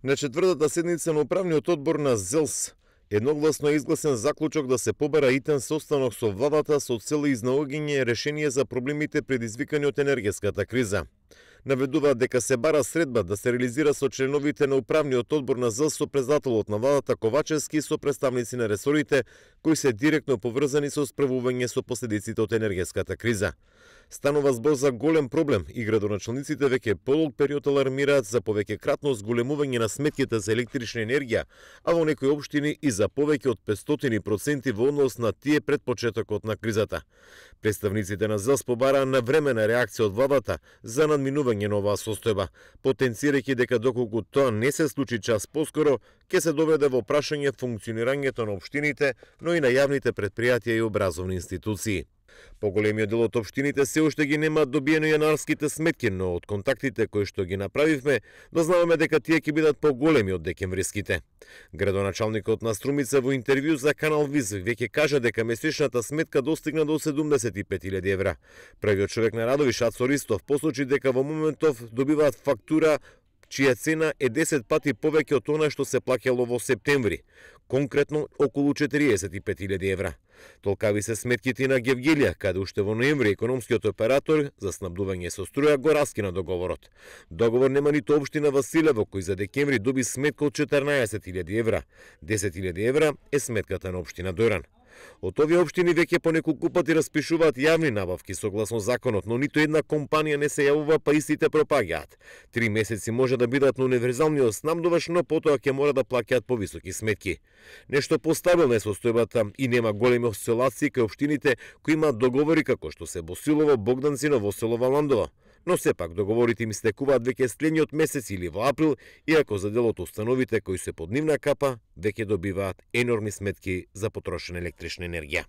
На четвртата седница на управниот одбор на ЗЕЛС едногласно е изгласен заклучок да се побара итен состанок со владата со цел изнаоѓање решение за проблемите предизвикани од енергетската криза. Наведуваат дека се бара средба да се реализира со членовите на управниот одбор на ЗЕЛС со председателот на владата Ковачевски и со представници на ресорите кои се директно поврзани со справување со последиците од енергетската криза. Станува збор за голем проблем и градоначалниците веќе подолг период алармираат за повеќе кратно зголемување на сметките за електрична енергија, а во некои општини и за повеќе од 500% во однос на тие пред почетокот на кризата. Представниците на ЗЕЛС побараа навремена реакција од владата за надминување на оваа состојба, потенцирајќи дека доколку тоа не се случи час поскоро, ќе се доведе во прашање функционирањето на општините, но и на јавните претпријатија и образовни институции. Поголемиот дел од општините се уште ги немаат добиено јанарските сметки, но од контактите кои што ги направивме, дознаваме дека тие ќе бидат поголеми од декемвриските. Градоначалникот на Струмица во интервју за Канал Виз веќе кажа дека месечната сметка достигна до 75.000 евра. Првиот човек на радови Шацо Ристов посочи дека во моментов добиваат фактура чија цена е 10 пати повеќе од она што се плаќало во септември, конкретно околу 45.000 евра. Толкави се сметките на Гевгелија, каде уште во ноември економскиот оператор за снабдување со струја го раскина договорот. Договор нема ниту општина Василево, кој за декември доби сметка од 14.000 евра. 10.000 евра е сметката на општина Дојран. Од овие општини веќе по неколку пати распишуваат јавни набавки согласно законот, но ниту една компанија не се јавува, па истите пропаѓаат. 3 месеци може да бидат на универзалниот снабдуваш, но потоа ќе мора да плаќаат повисоки сметки. Нешто постабилна е состојбата и нема големи осцилации кај општините кои имаат договори како што се Босилово, Богданци, Новоселово, Ландово. Но сепак договорите им стекуваат веќе следниот месец или во април, иако за дел од установите кои се под нивна капа веќе добиваат енормни сметки за потрошена електрична енергија.